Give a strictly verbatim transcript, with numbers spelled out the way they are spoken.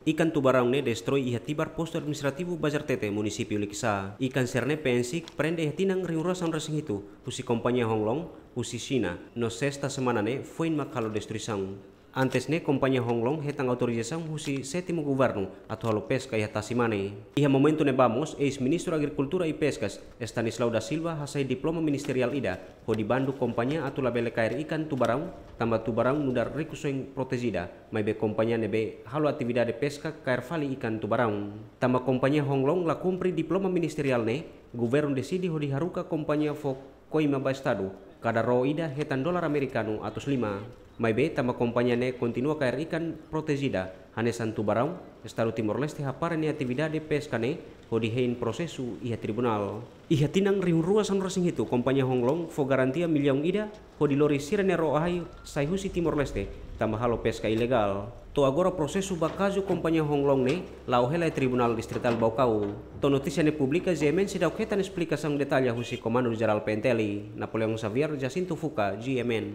Ikan tubaraun ne'e destroi iha Tibar, Postu Administrativu Bazartete, Munisípiu Likisá. Ikan sira-ne'e P N C prende iha tinan rihun rua sanulu-resin-hitu husi kompañia Honglong, husi Xina, no sesta semana ne'e foin mak halo destruisaun. Antes ne'e kompañia Honglong hetan autorizasaun husi sétimu governu atu halo peska iha tasi-mane. Iha momentu ne'ebá mós, eis-Ministru Agrikultura i Peskas, Stanislau da Silva, hasai diploma ministeriál ida hodi bandu kompañia atu labele kaer ikan tubaraun, tanba tubaraun nu'udar rikusoin protejida, maibé kompañia ne'ebé halo atividade peska kaer fali ikan tubaraun. Tanba kompañia Honglong la kumpre diploma ministeriál ne'e, governu deside hodi haruka kompañia fó koima ba Estadu, kada ró ida hetan dolar amerikanu atus lima. Maibé, tanba kompañia ne'e kontinua kaer ikan protejida, hanesan tubaraun, Estadu Timor-Leste hapara nia atividade peska ne'e hodi hein prosesu iha tribunál. Iha tinan rihun rua sanulu-resin-hitu, kompañia Honglong fó garantia millaun ida hodi lori sira-nia ró-ahi sai husi Timor-Leste, tanba halo peska ilegál. To'o agora prosesu ba kazu kompañia Honglong ne'e la'o hela iha Tribunál Distritál Baucau. To'o notísia ne'e publika, G M N seidauk hetan esplikasaun detalle husi Komandu Jerál P N T L. Napoleão Xavier, Jacinto Fuca, G M N.